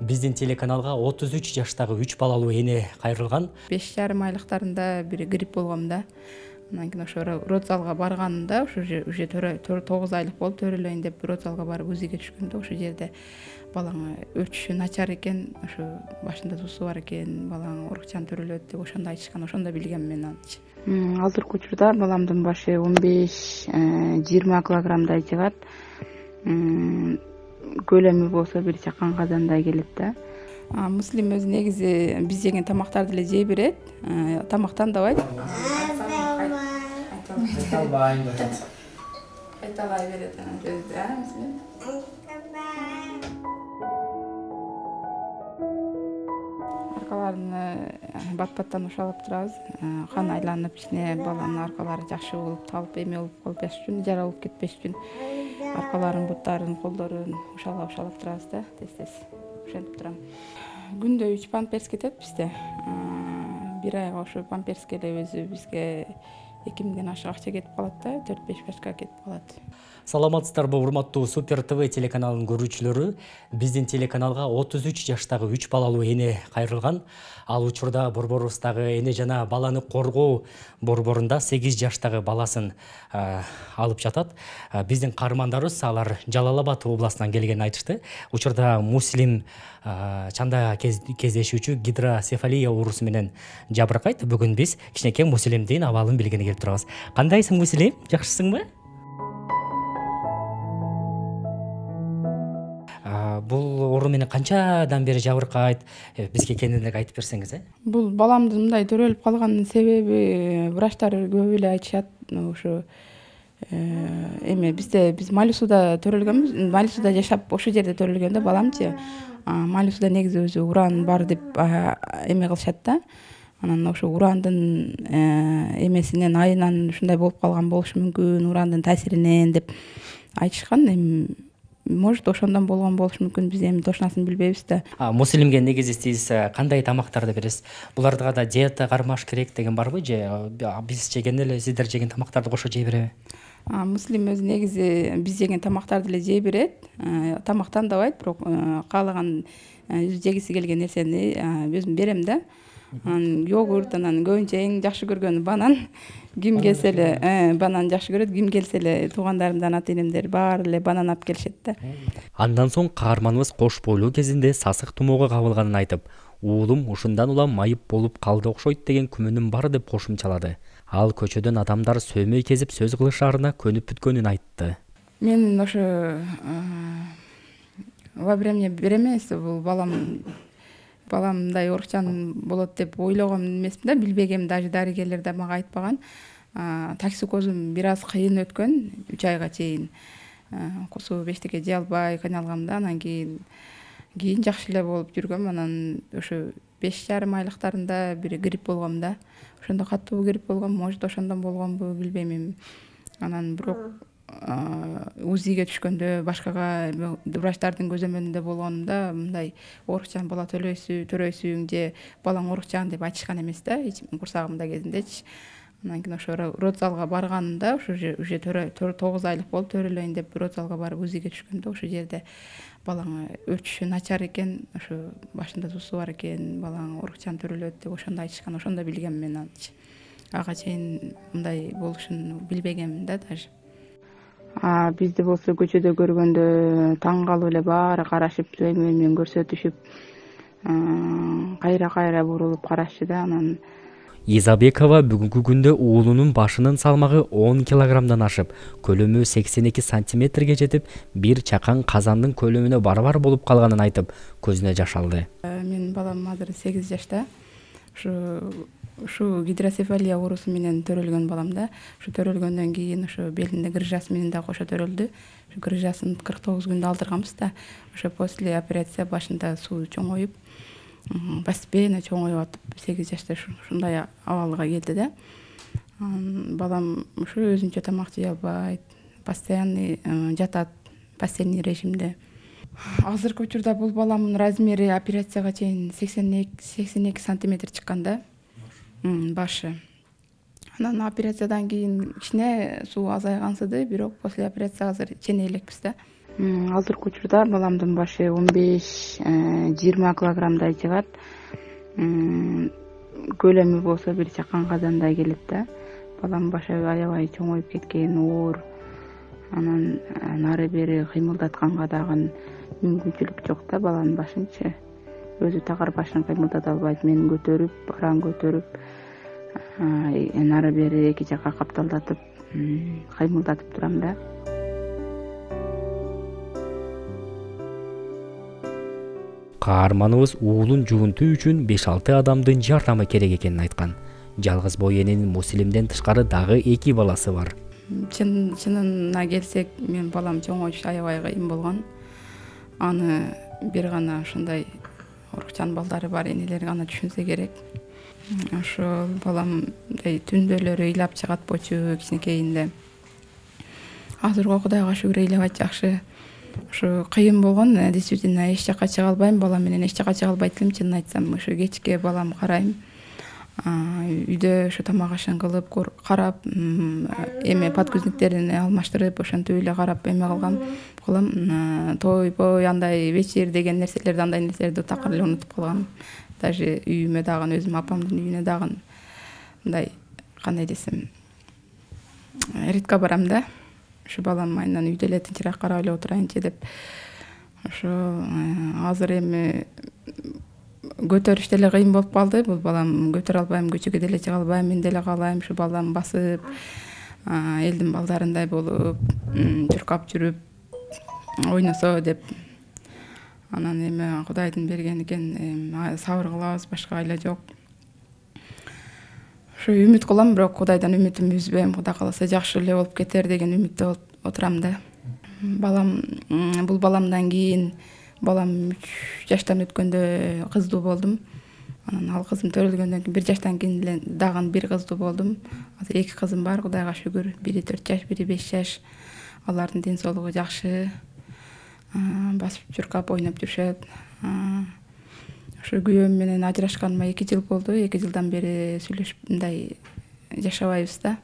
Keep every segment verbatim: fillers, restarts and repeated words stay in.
Биздин телеканалга отуз үч жаштагы үч балалуу эне кайрылган. беш жарым айлыктарында бир грипп болгом да. Анан кийин ошо родзалга барганымда уже уже тогуз айлык болуп төрөлөйүн деп родзалга барып УЗИге түшкөндө ошол жерде балаң өтүшү начар экен, ошо башында туусу бар экен, балаң урукчан төрөлөт деп ошондо айтышкан. Ошондо билгем мен анчы. Азыркы учурда баламдын башы он беш жыйырма килограммдай чыгат. Көлөмү болсо бир чакан казандай келет да. Муслим өзү негизи биз жеген тамактарды эле жей берет, тамактандабайт. Кайталбай берет. Кайталай берет анан өзү, а, Муслим? Аркаларын бат-баттан ушалып турабыз. Кан айланып ичине баланын аркалары жакшы болуп, талып эме болуп калбаш үчүн, жара болуп кетпеш үчүн аркаларын, буттарын, колдорун ушалап-ушалап турабыз да, тез-тез ушентип турам. Күндө үч памперс кетет бизде. Бир айга ошо памперске эле өзү бизге эки миңден ашык акча кетип калат да, төрт беш башка кетип калат. Саламатсыздарбы, урматтуу Супер ТВ телеканалынын көрүүчүлөрү? Биздин телеканалга отуз үч жаштагы үч балалуу эне кайрылган. Ал учурда борборубуздагы эне жана баланы коргоо борборунда сегиз жаштагы баласын алып жатат. Биздин каармандарыбыз алар Жалал Абад областынан келгенин айтышты. Учурда Муслим чанда кездешүүчү гидроцефалия оорусу менен жабыркайт. Бүгүн биз кичинекей Муслимдин абалын билгени келип турабыз. Кандайсың, Муслим? Жакшысыңбы? Бул оору менен канчадан бери жабыркайт? Бизге кененирээк айтып берсеңиз, э? Бул баламдын мындай төрөлүп калганынын себеби врачтар көп эле айтышат. Ошо эме бизде биз Малисуда төрөлгөнбүз. Малисуда жашап, ошол жерде төрөлгөн да баламчы. Малисуда негизи өзү уран бар деп эме кылышат да. Анан ошо урандын эмесинен, айынан ушундай болуп калган болушу мүмкүн, урандын таасиринен деп айтышкан. Эми может ошондон болгон болушу мүмкүн, биз эми точносын билбейбиз да. Муслимге негизи сиз кандай тамактарды бересиз? Буларга да диета кармаш керек деген барбы же биз жеген эле сиздер жеген тамактарды кошо жей береби? Муслим өзү негизи биз жеген тамактарды эле жей берет, тамактандабайт, бирок каалаган жегиси келген нерсени өзүм берем да. Йогурт, анан көбүнчө эң жакшы көргөнү банан. Ким келсе эле банан жакшы көрөт, ким келсе эле туугандарымдан ата-энемдер баары эле банан алып келишет да. Андан соң каарманыбыз кош бойлуу кезинде сасык тумоого кабылганын айтып, уулум ушундан улам майып болуп калды окшойт деген күмөнүм бар деп кошумчалады. Ал көчөдөн адамдар сөймөй кезип сөз кылышаарына көнүп бүткөнүн айтты. Мен ошо во время беременности бул балам балам мындай урукчан болот деп ойлогом эмесмин да, билбегем, даже дарыгерлер да мага айтпаган. Токсикозум бир аз кыйын өткөн, үч айга чейин. Кусуу бештеке жей албай кыйналгам да, анан кийин кийин жакшы эле болуп жүргөм. Анан ошо беш жарым айлыктарында бир грипп болгом да. Ошондо катуу грипп болгом, может ошондон болгонбу, билбейм эми. Анан бирок УЗИге түшкөндө, башкага врачтардын көзөмөлүндө болгонумда мындай оорукчан бала төрөйсүң же балаң оорукчан деп айтышкан эмес да, курсагымда кезиндечи. Анан кийин ошо родзалга барганымда уже тогуз айлык болуп төрөлөйүн деп родзалга барып УЗИге түшкөндө ошол жерде балаң өтүшү начар экен, ошо башында туусу бар экен, балаң оорукчан төрөлөт деп ошондо айтышкан. Ошондо билгем мен анчы. Ага чейин мындай болушун билбегем да даже. Бизди болсо көчөдө көргөндө таң калып эле баары карашып, сөймө менен көрсөтүшүп, кайра-кайра бурулуп карашчу да. Анан Изабекова бүгүнкү күндө уулунун башынын салмагы он килограммдан ашып, көлөмү сексен эки сантиметрге жетип, бир чакан казандын көлөмүнө барабар болуп калганын айтып, көзүнө жаш алды. Менин балам азыр сегиз жашта. Ушу ушу гидроцефалия оорусу менен төрөлгөн балам да. Ушу төрөлгөндөн кийин ошо белинде грыжасы менен да кошо төрөлдү. Ушу грыжасын кырк тогуз күндө алдырганбыз да. Ошо после операция башында суу чоңоюп, постепенно чоңоюп атып сегиз жашта ушундай абалга келди да. Балам ушу өзүнчө тамак жей албайт, постоянный жатат, постельный режимде. Азыркы учурда бул баламдын размери операцияга чейин сексен эки сантиметр чыккан да. Башы. Анан операциядан кийин кичине суу азайгансыды, бирок после операция азыр чене элекпиз да. Азыркы учурда баламдын башы он беш жыйырма килограммдай чыгат. Көлөмү болсо бир чакан казандай келет да. Балам башы аябай чоңоюп кеткен, оор. Анан нары бери кыймылдатканга дагы мүмкүнчүлүк жок да, баланын башынчы. Өзү тагар башын кыймылдата албайт. Мен көтөрүп, баран көтөрүп, нары бери эки жакка капталдатып, кыймылдатып турам да. Каарманыбыз уулун жуунтуу үчүн беш алты адамдын жардамы керек экенин айткан. Жалгыз бой эненин Мусилимден тышкары дагы эки баласы бар. Чын чынына келсек, мен балам чоңоюш аябай кыйын болгон. Аны бир гана ушундай урукчан балдары бар энелер гана түшүнсө керек. Ошол балам мындай түндөлөрү ыйлап чыгат болчу кичинекейинде. Азыркы Кудайга шүгүр ыйлабайт жакшы. Ушу кыйын болгон, действительно эч жакка чыга албайм, балам менен эч жакка чыга албайт элем, чынын айтсам. Ушу кечке балам карайм. Үйдө ушу тамак ашын кылып, карап, эме подгузниктерин алмаштырып, ошентип эле карап эме кылгам, кылам. Тойбой андай вечер деген нерселерди, андай нерселерди такыр эле унутуп калгам. Даже үйүмө дагы, өзүм апамдын үйүнө дагы мындай кандай десем, редко барам да. Ушу балам айынан үйдө эле тынчыраак карап эле отурайынчы деп. Ошо азыр эми көтөрүш деле кыйын болуп калды. Бул балам көтөрө албайм, көчөгө деле чыга албайм, мен деле каалайм ушу балам басып, элдин балдарындай болуп, чуркап жүрүп, ойносо деп. Анан эми Кудайдын берген экен, сабыр кылабыз, башка айла жок. Ушу үмүт кылам, бирок Кудайдан үмүтүмдү үзбөйм. Кудай кааласа жакшы эле болуп кетер деген үмүттө отурам да. Балам, бул баламдан кийин балам үч жаштан өткөндө кыздуу болдум. Анан ал кызым төрөлгөндөн кийин бир жаштан кийин эле дагы бир кыздуу болдум. Азыр эки кызым бар, Кудайга шүгүр. Бири төрт жаш, бири беш жаш. Алардын ден соолугу жакшы. Басып чуркап ойноп жүрүшөт. Ошо күйөөм менен ажырашканыма эки жыл болду. эки жылдан бери сүйлөшүп мындай жашабайбыз да.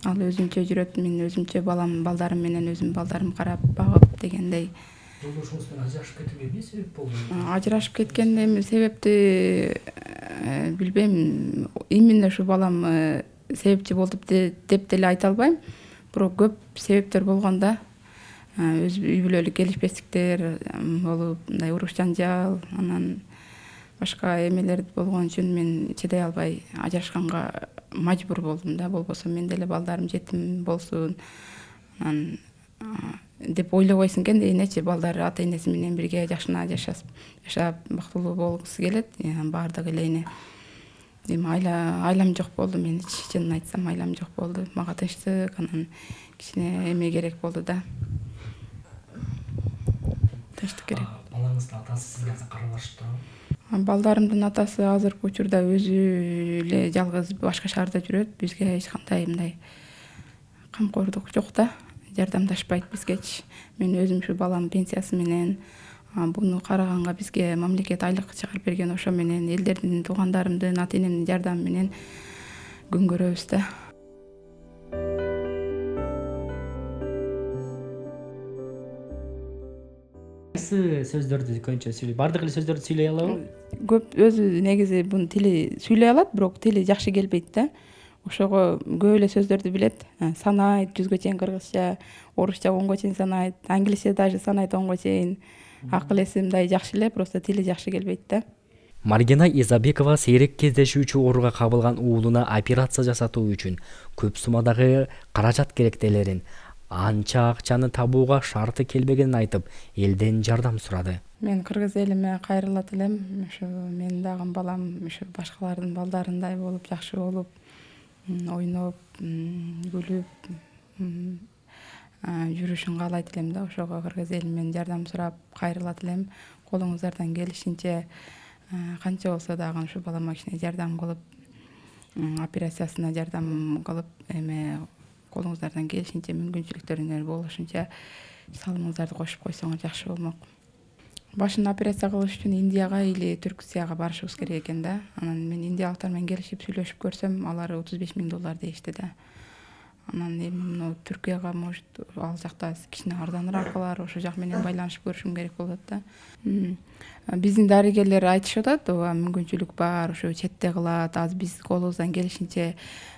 Ал өзүнчө жүрөт, мен өзүмчө балам, балдарым менен өзүм балдарым карап, багып дегендей. Жолдошуңуз менен ажырашып кетүүгө эмне себеп болду? Ажырашып кеткен эми себепти билбейм. Именно ушу балам себепчи болду деп деле айта албайм. Бирок көп себептер болгон да. Өз үй бүлөлүк келишпестиктер болуп, мындай уруш жанжал, анан башка эмелер болгон үчүн мен чыдай албай ажырашканга мажбур болдум да. Болбосо мен деле балдарым жетим болсун анан деп ойлобойсуң экен энечи, балдары ата энеси менен бирге жакшына жашап, жашап бактылуу болгусу келет. Баардыгы эле эне. Эми айла айлам жок болду, мен чынын айтсам айлам жок болду. Мага тынчтык, анан кичине эме керек болду да. Тынчтык керек. Балаңыздын атасы сизге каралашып турабы? Балдарымдын атасы азыркы учурда өзү эле жалгыз башка шаарда жүрөт. Бизге эч кандай мындай камкордук жок да. Жардамдашпайт бизгечи. Мен өзүм ушу балам пенсиясы менен, буну караганга бизге мамлекет айлык чыгарып берген, ошо менен элдердин, туугандарымдын, ата энемдин жардамы менен күн көрөбүз да. Кайсы сөздөрдү көбүнчө сүйлөйт? Бардык эле сөздөрдү сүйлөй алабы? Көп өзү негизи бунун тили сүйлөй алат, бирок тили жакшы келбейт да. Ошого көп эле сөздөрдү билет. Санайт, жүзгө чейин кыргызча, орусча онго чейин санайт, англисче даже санайт онго чейин. Акыл эси мындай жакшы эле, просто тили жакшы келбейт да. Маргина Изабекова сейрек кездешүүчү ооруга кабылган уулуна операция жасатуу үчүн көп суммадагы каражат керектелерин, анча акчаны табууга шарты келбегенин айтып, элден жардам сурады. Мен кыргыз элиме кайрылат элем. Ушу менин дагы балам ушу башкалардын балдарындай болуп, жакшы болуп, ойноп, күлүп жүрүшүн каалайт элем да. Ошого кыргыз эли менен жардам сурап кайрылат элем. Колуңуздардан келишинче канча болсо дагы ушу балама кичине жардам кылып, операциясына жардам кылып, эме колуңуздардан келишинче, мүмкүнчүлүктөрүңөр болушунча салымыңыздарды кошуп койсоңор жакшы болмок. Башын операция кылыш үчүн Индияга или Түркияга барышыбыз керек экен да. Анан мен индиялыктар менен келишип сүйлөшүп көрсөм, алар отуз беш миң доллар дейишти да. Анан эми мына Түркияга может ал жакта кичине арзаныраак калар, ошол жак менен байланышып көрүшүм керек болот да. Биздин дарыгерлер айтышып атат, ооба мүмкүнчүлүк бар, ошо четте кылат. Азыр биз колубуздан келишинче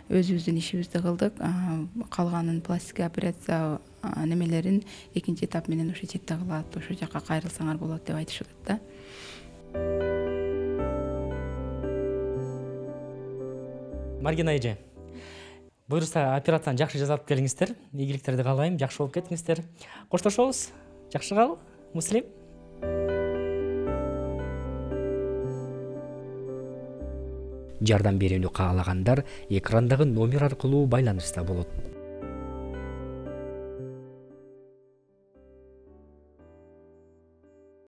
өзүбүздүн ишибизди кылдык. Калганын пластика операция немелерин экинчи этап менен ошо четте кылат, ошол жака кайрылсаңар болот деп айтышып атат да. Маргина эже, буюрса операцияны жакшы жасап келиңиздер. Ийгиликтерди каалайм, жакшы болуп кетиңиздер. Коштошобуз. Жакшы кал, Муслим. Жардам берүүнү каалагандар экрандагы номер аркылуу байланышта болот.